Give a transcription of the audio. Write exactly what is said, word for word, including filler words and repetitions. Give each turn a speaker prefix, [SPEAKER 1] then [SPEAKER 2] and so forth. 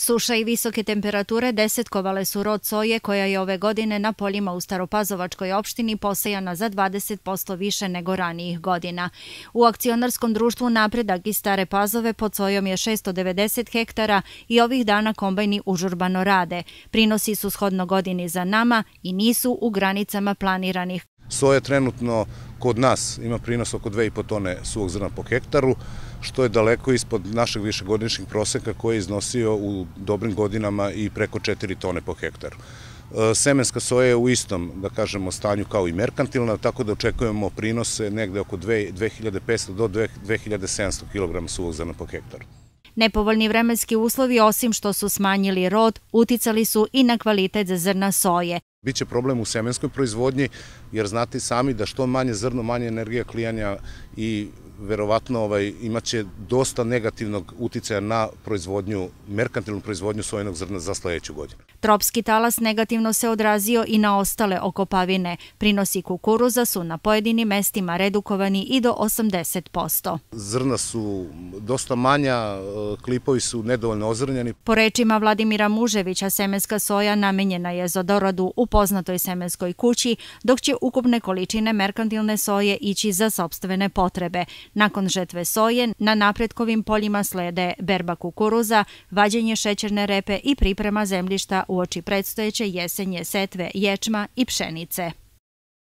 [SPEAKER 1] Suša i visoke temperature desetkovale su rod soje koja je ove godine na poljima u Staropazovačkoj opštini posejana za dvadeset posto više nego ranijih godina. U akcionarskom društvu Napredak iz Stare Pazove pod sojom je šessto devedeset hektara i ovih dana kombajni užurbano rade. Prinosi su shodno godini za nama i nisu u granicama planiranih.
[SPEAKER 2] Soja trenutno kod nas ima prinos oko dve i po tone suvog zrna po hektaru, što je daleko ispod našeg višegodišnjeg proseka koji je iznosio u dobrim godinama i preko četiri tone po hektaru. Semenska soja je u istom, da kažemo, stanju kao i merkantilna, tako da očekujemo prinose negde oko dve hiljade petsto do dve hiljade sedamsto kilograma suvog zrna po hektaru.
[SPEAKER 1] Nepovoljni vremenski uslovi, osim što su smanjili rod, uticali su i na kvalitet zrna soje.
[SPEAKER 2] Biće problem u semenskoj proizvodnji, jer znate sami da što manje zrno, manje energija klijanja i verovatno imaće dosta negativnog uticaja na proizvodnju, merkantilnu proizvodnju sojenog zrna za sledeću godinu.
[SPEAKER 1] Tropski talas negativno se odrazio i na ostale okopavine. Prinosi kukuruza su na pojedinim mestima redukovani i do osamdeset posto.
[SPEAKER 2] Zrna su dosta manja, klipovi su nedovoljno ozrnjeni.
[SPEAKER 1] Po rečima Vladimira Muževića, semenska soja namenjena je za doradu u poznatoj semenskoj kući, dok će ukupne količine merkantilne soje ići za sopstvene potrebe. Nakon žetve soje, na napretkovim poljima slede berba kukuruza, vađenje šećerne repe i priprema zemljišta uoči predstojeće jesenje setve ječma i pšenice.